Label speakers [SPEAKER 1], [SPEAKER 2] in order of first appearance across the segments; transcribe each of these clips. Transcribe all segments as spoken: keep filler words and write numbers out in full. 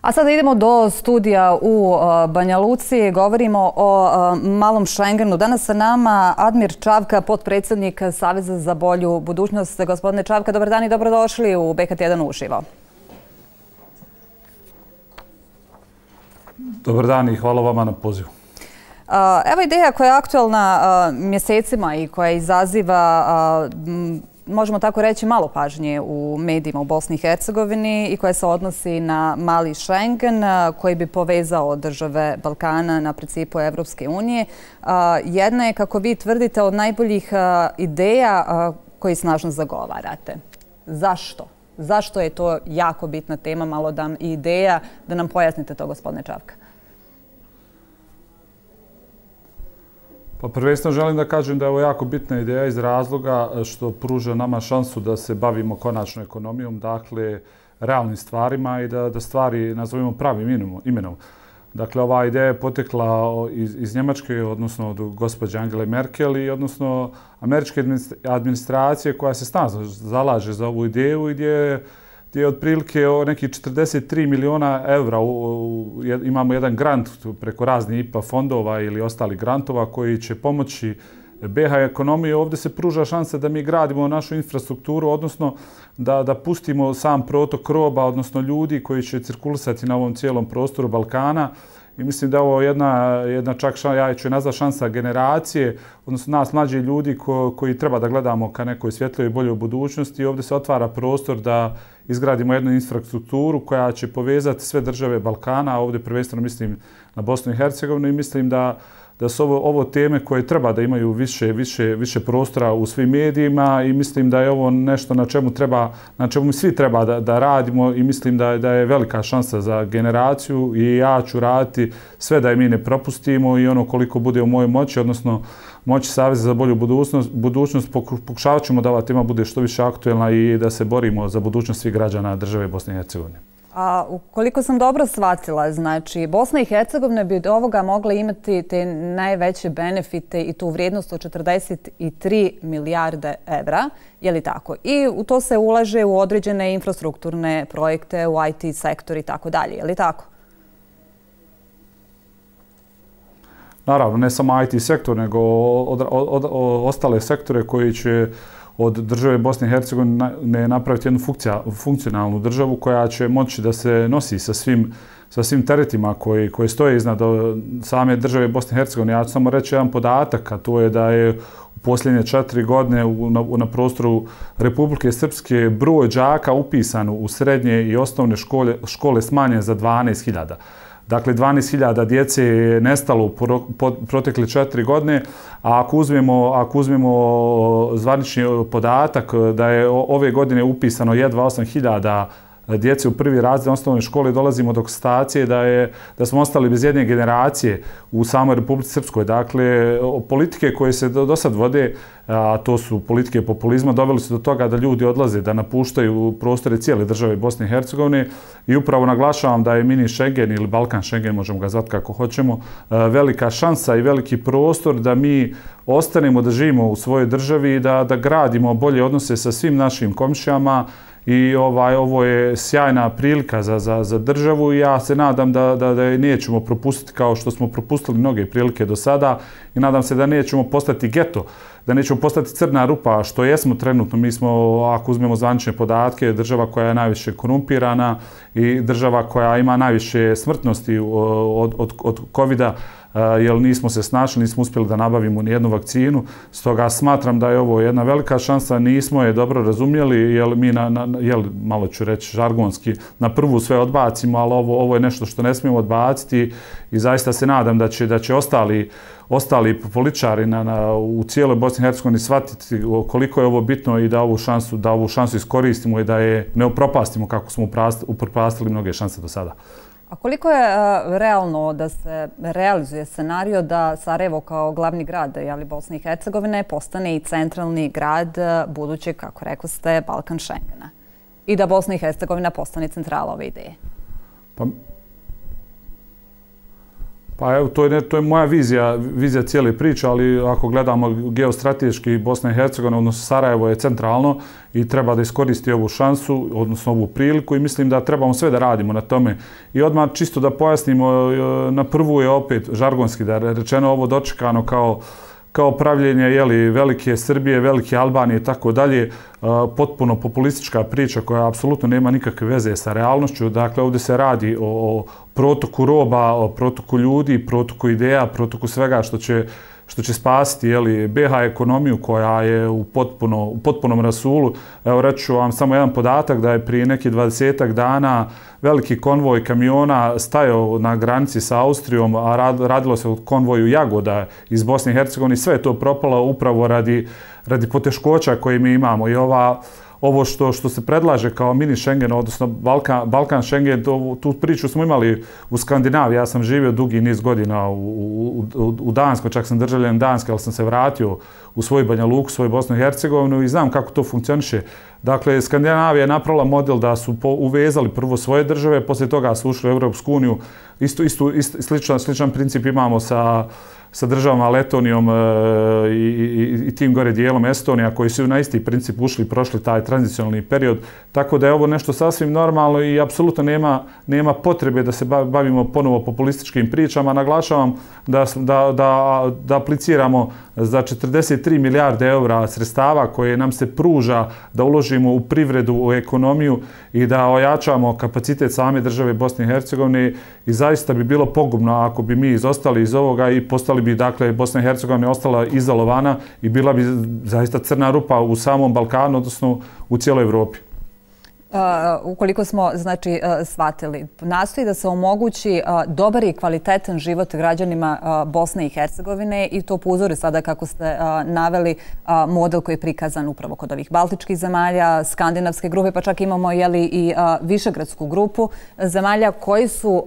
[SPEAKER 1] A sada idemo do studija u Banja Luci. Govorimo o malom Schengenu. Danas sa nama Admir Čavka, potpredsjednik Saveza za bolju budućnost. Gospodine Čavka, dobar dan i dobrodošli u B K T jedan uživo.
[SPEAKER 2] Dobar dan i hvala vama na pozivu.
[SPEAKER 1] Evo ideja koja je aktualna mjesecima i koja izaziva, možemo tako reći, malo pažnje u medijima u Bosni i Hercegovini i koja se odnosi na mali Schengen koji bi povezao države Balkana na principu Evropske unije. Jedna je, kako vi tvrdite, od najboljih ideja koji snažno zagovarate. Zašto? Zašto je to jako bitna tema, malo dam i ideja, da nam pojasnite to, gospodine Čavka?
[SPEAKER 2] Pa prvenstveno želim da kažem da je ovo jako bitna ideja iz razloga što pruža nama šansu da se bavimo konačno ekonomijom, dakle realnim stvarima i da, da stvari nazovemo pravim imenom. Dakle, ova ideja je potekla iz, iz Njemačke, odnosno od gospođe Angele Merkel i odnosno američke administracije koja se snažno zalaže za ovu ideju i gdje gdje je otprilike nekih četrdeset tri miliona evra. Imamo jedan grant preko raznih I P A fondova ili ostalih grantova koji će pomoći B H ekonomiji. Ovdje se pruža šansa da mi gradimo našu infrastrukturu, odnosno da, da pustimo sam protok roba, odnosno ljudi koji će cirkulisati na ovom cijelom prostoru Balkana. I mislim da je ovo jedna, jedna čak šansa, ja ću je nazvati šansa generacije, odnosno nas mlađi ljudi ko, koji treba da gledamo ka nekoj svjetlijoj i boljoj budućnosti. I ovdje se otvara prostor da izgradimo jednu infrastrukturu koja će povezati sve države Balkana, a ovdje prvenstveno mislim na Bosnu i Hercegovinu i mislim da da su ovo, ovo teme koje treba da imaju više, više, više prostora u svim medijima i mislim da je ovo nešto na čemu treba, na čemu mi svi treba da, da radimo i mislim da, da je velika šansa za generaciju i ja ću raditi sve da je mi ne propustimo i ono koliko bude u mojoj moći, odnosno moći Saveza za bolju budućnost, budućnost pokušavat ćemo da ova tema bude što više aktuelna i da se borimo za budućnost svih građana države Bosne i Hercegovine.
[SPEAKER 1] A ukoliko sam dobro shvatila, znači Bosna i Hercegovina bi od ovoga mogla imati te najveće benefite i tu vrijednost od četrdeset tri milijarde evra, je li tako? I u to se ulaže u određene infrastrukturne projekte, u I T sektor i tako dalje, je li tako?
[SPEAKER 2] Naravno, ne samo I T sektor, nego od, od, od, ostale sektore koji će od države Bosne i Hercegovine napraviti jednu funkcija, funkcionalnu državu koja će moći da se nosi sa svim, sa svim teretima koji, koji stoje iznad same države Bosne i Hercegovine. Ja ću samo reći jedan podatak, a to je da je u posljednje četiri godine u, na, na prostoru Republike Srpske broj đaka upisan u srednje i osnovne škole, škole smanjen za dvanaest hiljada. Dakle, dvanaest hiljada djece je nestalo u protekle četiri godine, a ako uzmemo, ako uzmemo zvanični podatak da je ove godine upisano jedva osam hiljada djece u prvi razred osnovne škole, dolazimo do konstatacije da, je, da smo ostali bez jedne generacije u samoj Republici Srpskoj. Dakle, politike koje se do, do sad vode, a to su politike populizma, doveli su do toga da ljudi odlaze, da napuštaju prostore cijele države Bosne i Hercegovine i upravo naglašavam da je mini Schengen ili Balkan Schengen, možemo ga zvati kako hoćemo, velika šansa i veliki prostor da mi ostanemo, da živimo u svojoj državi i da, da gradimo bolje odnose sa svim našim komšijama. I ovaj, ovo je sjajna prilika za, za, za državu i ja se nadam da, da, da je nećemo propustiti kao što smo propustili mnoge prilike do sada i nadam se da nećemo postati geto, da nećemo postati crna rupa, što jesmo trenutno. Mi smo, ako uzmemo zvanične podatke, država koja je najviše korumpirana i država koja ima najviše smrtnosti od, od, od kovida, jer nismo se snašli, nismo uspjeli da nabavimo nijednu vakcinu. Stoga smatram da je ovo jedna velika šansa, nismo je dobro razumjeli, jer mi, na, na, jel, malo ću reći žargonski, na prvu sve odbacimo, ali ovo, ovo je nešto što ne smijemo odbaciti i zaista se nadam da će, da će ostali ostali političari na, na, u cijeloj Bosni i Hercegovini shvatiti koliko je ovo bitno i da ovu šansu, da ovu šansu iskoristimo i da je ne upropastimo kako smo upropastili mnoge šanse do sada.
[SPEAKER 1] A koliko je uh, realno da se realizuje scenario da Sarajevo kao glavni grad jeli, Bosne i Hercegovine postane i centralni grad uh, budućeg, kako rekao ste, Balkan Schengena i da Bosna i Hercegovina postane centrala ove ideje?
[SPEAKER 2] Pa, Pa evo, to je, to je moja vizija, vizija cijele priče, ali ako gledamo geostrateški, Bosna i Hercegovina, odnosno Sarajevo je centralno i treba da iskoristi ovu šansu, odnosno ovu priliku i mislim da trebamo sve da radimo na tome. I odmah čisto da pojasnimo, na prvu je opet žargonski da je rečeno ovo dočekano kao kao pravljenje jeli, velike Srbije, velike Albanije i tako dalje, potpuno populistička priča koja apsolutno nema nikakve veze sa realnošću. Dakle, ovdje se radi o, o protoku roba, o protoku ljudi, protoku ideja, protoku svega što će, što će spasiti jeli, B iH ekonomiju koja je u, potpuno, u potpunom rasulu. Evo, reći ću vam samo jedan podatak da je prije neki dvadesetak dana veliki konvoj kamiona stajao na granici sa Austrijom, a radilo se o konvoju jagoda iz Bosne i Hercegovine. Sve je to propalo upravo radi, radi poteškoća koje mi imamo. I ova, ovo što, što se predlaže kao mini Schengen, odnosno Balkan, Balkan Schengen, to, tu priču smo imali u Skandinaviji. Ja sam živio dugi niz godina u, u, u, u Danskoj, čak sam državljan Danske, ali sam se vratio u svoju Banja Luku, svoju Bosnu i Hercegovinu i znam kako to funkcioniše. Dakle, Skandinavija je napravila model da su po, uvezali prvo svoje države, poslije toga su ušli u Europsku uniju. Isto, isto, isto, sličan, sličan princip imamo sa, sa državama Letonijom e, i, i, i tim gore dijelom Estonija, koji su na isti princip ušli i prošli taj tranzicionalni period. Tako da je ovo nešto sasvim normalno i apsolutno nema, nema potrebe da se bavimo ponovo populističkim pričama. Naglašavam da, da, da, da apliciramo za četrdeset tri milijarde eura sredstava koje nam se pruža da uložimo u privredu, u ekonomiju i da ojačamo kapacitet same države Bosne i Hercegovine i zaista bi bilo pogubno ako bi mi izostali iz ovoga i postali bi, dakle, Bosna i Hercegovina ostala izolovana i bila bi zaista crna rupa u samom Balkanu, odnosno u cijeloj Evropi.
[SPEAKER 1] Uh, ukoliko smo, znači, uh, shvatili, nastoji da se omogući uh, dobar i kvalitetan život građanima uh, Bosne i Hercegovine i to po uzoru sada kako ste uh, naveli uh, model koji je prikazan upravo kod ovih baltičkih zemalja, skandinavske grupe, pa čak imamo jeli, i uh, višegradsku grupu zemalja koji su uh,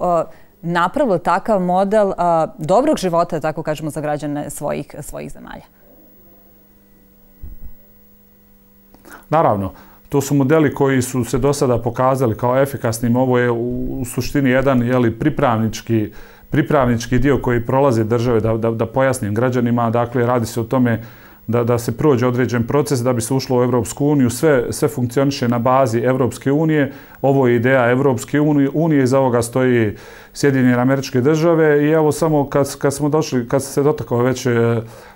[SPEAKER 1] napravili takav model uh, dobrog života, tako kažemo, za građane svojih, svojih zemalja.
[SPEAKER 2] Naravno. To su modeli koji su se do sada pokazali kao efikasnim. Ovo je u, u suštini jedan jeli, pripravnički, pripravnički dio koji prolaze države, da, da, da pojasnim građanima. Dakle, radi se o tome da, da se prođe određen proces da bi se ušlo u Evropsku uniju. Sve, sve funkcioniše na bazi Evropske unije. Ovo je ideja Evropske unije, iza ovoga stoji Sjedinjene Američke Države i evo samo kad, kad smo došli, kad se dotakao već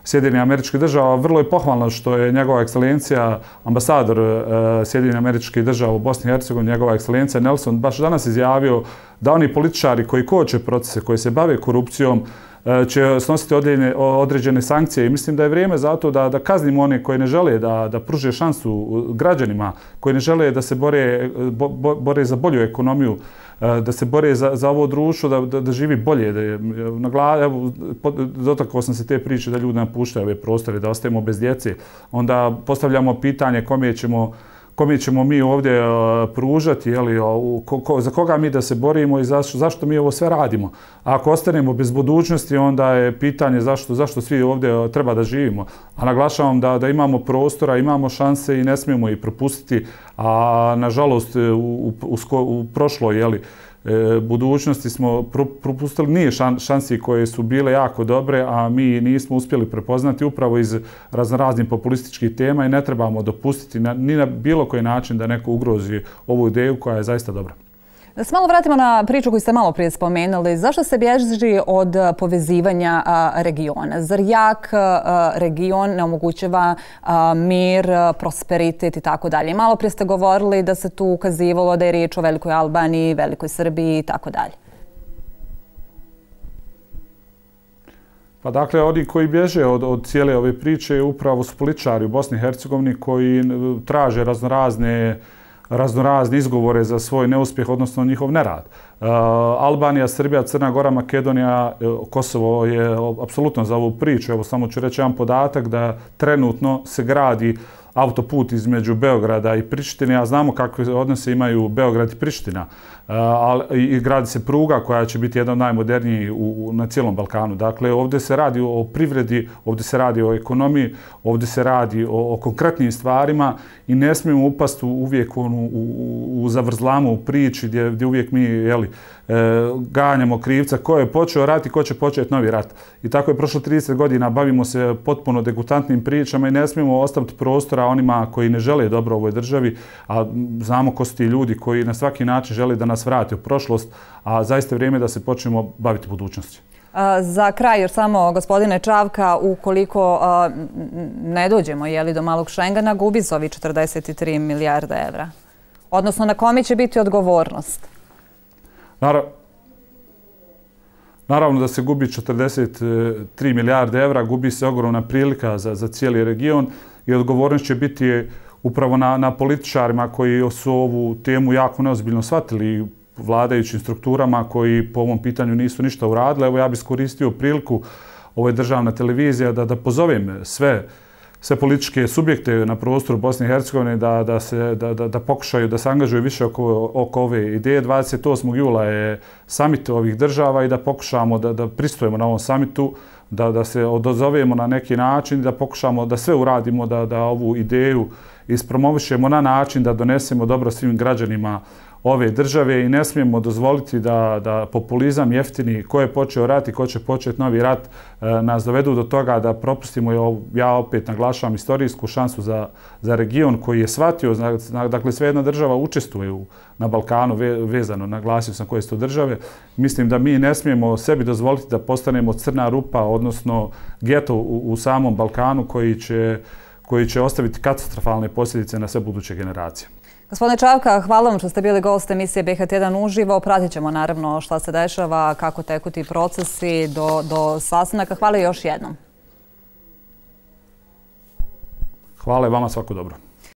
[SPEAKER 2] Sjedinjene Američke Država, vrlo je pohvalno što je njegova ekscelencija, ambasador Sjedinjene Američke Država u Bosni i Hercegovini, njegova ekscelencija Nelson, baš danas izjavio da oni političari koji koče procese, koji se bave korupcijom, će snositi određene, određene sankcije i mislim da je vrijeme za to da, da kaznimo one koji ne žele da, da pruže šansu građanima, koji ne žele da se bore, bo, bore za bolju ekonomiju, da se bore za, za ovo društvo, da, da, da živi bolje. Da je, na glavi, evo, dotakao sam se te priče da ljudi napuštaju ove prostore, da ostajemo bez djece. Onda postavljamo pitanje kome ćemo kome ćemo mi ovdje uh, pružati, jeli, uh, ko, ko, za koga mi da se borimo i zašto, zašto mi ovo sve radimo. A ako ostanemo bez budućnosti, onda je pitanje zašto, zašto svi ovdje uh, treba da živimo. A naglašavam da, da imamo prostora, imamo šanse i ne smijemo ih propustiti, a nažalost u, u, u, u prošloj jeli, budućnosti smo propustili nije šansi koje su bile jako dobre, a mi nismo uspjeli prepoznati upravo iz raznoraznih populističkih tema i ne trebamo dopustiti na, ni na bilo koji način da neko ugrozi ovu ideju koja je zaista dobra.
[SPEAKER 1] Da se malo vratimo na priču koju ste malo prije spomenuli. Zašto se bježi od povezivanja regiona? Zar jak region ne omogućava mir, prosperitet i tako dalje? Malo prije ste govorili da se tu ukazivalo da je riječ o Velikoj Albaniji, Velikoj Srbiji i tako dalje.
[SPEAKER 2] Pa dakle, oni koji bježe od, od cijele ove priče upravo su političari u Bosni i Hercegovini koji traže raznorazne raznorazne izgovore za svoj neuspjeh, odnosno njihov nerad. Uh, Albanija, Srbija, Crna Gora, Makedonija, Kosovo je apsolutno za ovu priču. Evo samo ću reći jedan podatak da trenutno se gradi autoput između Beograda i Prištine, a znamo kakve odnose imaju Beograd i Priština. i gradi se pruga koja će biti jedna od najmodernijih na cijelom Balkanu. Dakle, ovdje se radi o privredi, ovdje se radi o ekonomiji, ovdje se radi o konkretnim stvarima i ne smijemo upasti uvijek u zavrzlamu u priči gdje uvijek mi ganjamo krivca ko je počeo rat i ko će početi novi rat. I tako je prošlo trideset godina, bavimo se potpuno degutantnim pričama i ne smijemo ostaviti prostora onima koji ne žele dobro ovoj državi, a znamo ko su ti ljudi koji na svaki način žele da nas vrati u prošlost, a zaista je vrijeme da se počnemo baviti budućnosti.
[SPEAKER 1] Za kraj još samo, gospodine Čavka, ukoliko ne dođemo do malog Šengena, gubi se ovi četrdeset tri milijarde evra. Odnosno, na kome će biti odgovornost?
[SPEAKER 2] Naravno da se gubi četrdeset tri milijarde evra, gubi se ogromna prilika za cijeli region i odgovornost će biti upravo na političarima koji su ovu temu jako neozbiljno shvatili, vladajućim strukturama koji po ovom pitanju nisu ništa uradili. Evo ja bih iskoristio priliku, ovo je državna televizija, da pozovem sve sve političke subjekte na prostoru Bosne i Hercegovine da pokušaju da se angažuju više oko ove ideje. dvadeset osmog jula je samit ovih država i da pokušamo da pristojimo na ovom samitu, da se odozovemo na neki način, da pokušamo da sve uradimo, da ovu ideju ispromovišemo na način da donesemo dobro svim građanima ove države i ne smijemo dozvoliti da populizam jeftini ko je počeo rat i ko će početi novi rat nas dovedu do toga da propustimo, ja opet naglašavam, istorijsku šansu za region koji je shvatio, dakle sve jedna država učestvuje na Balkanu vezano, naglasio sam koje su to države. Mislim da mi ne smijemo sebi dozvoliti da postanemo crna rupa, odnosno geto u samom Balkanu koji će ostaviti katastrofalne posljedice na sve buduće generacije.
[SPEAKER 1] Gospodine Čavka, hvala vam što ste bili gost emisije B H T jedan uživo. Pratit ćemo naravno šta se dešava, kako teku ti procesi do sastanaka. Hvala još jednom.
[SPEAKER 2] Hvala i vama, svako dobro.